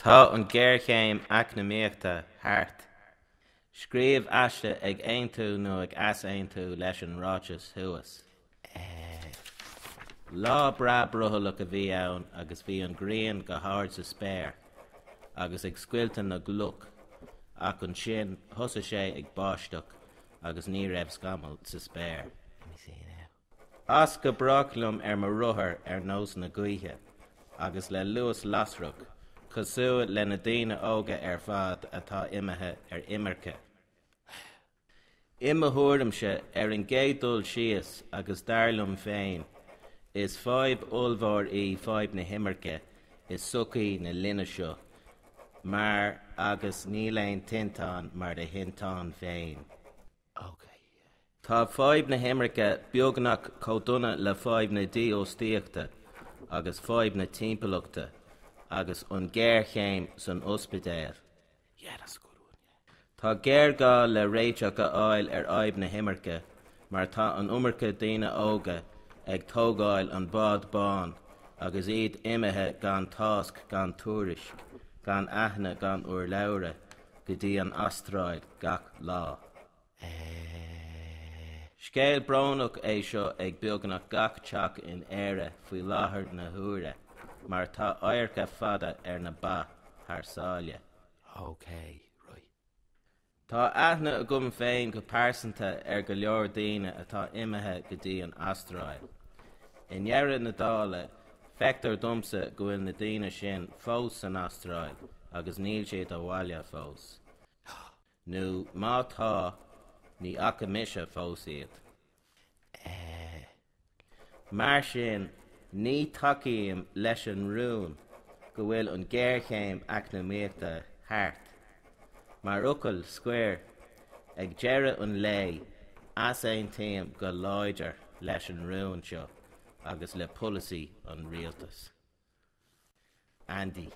Tá an ghéarchéim eacnamaíochta thart. Scríobh aiste ag aontú nó ag easaontú leis an ráiteas thuas. Lá breá brothallach a bhí ann agus bhí an ghrian go hard sa spéir agus ag scoilteadh na gcloch ach ansin thosaigh sé ag báisteach agus ní raibh scamall sa spéir. As go brách liom ar mo rothar ar nós na gaoithe agus le luas lasrach, cosúil le na daoine óga ar fad atá imithe ar imirce. I mo thuairimse, ar an gcéad dul síos, agus dar liom féin, is fadhb ollmhór í fadhb na himirce i sochaí na linne seo, mar agus níl aon tinteán mar do thinteán féin. Tá fadhb na himirce beagnach chomh dona le fadhb na dífhostaíochta agus fadhb na timpeallachta agus an ghéarchéim san ospidéal. Tá géarghá le réiteach a fháil ar fhadhb na himirce mar tá an iomarca daoine óga ag tógáil an bád bán agus iad imithe gan tásc gan tuairisc, gan aithne gan urlabhra go dtí an Astráil gach lá. Scéal brónach é seo ag beagnach gach teach in Éire faoi láthair na huaire mar tá adharca fada ar na ba thar sáile. Ok, right. Tá aithne agam féin go pearsanta ar go leor daoine atá imithe go dtí an Astráil. I ndeireadh na dála, feictear domsa go bhfuil na daoine sin fós san Astráil agus níl siad abhaile fós. Nó má tá, ní fhaca mise fós iad. Mar sin, ní thacaím leis an rún go bhfuil an ghéarchéim eacnamaíochta thart. Mar fhocal scoir, ag deireadh an lae, easaontaím go láidir leis an rún seo agus le polasaí an rialtais. Andy.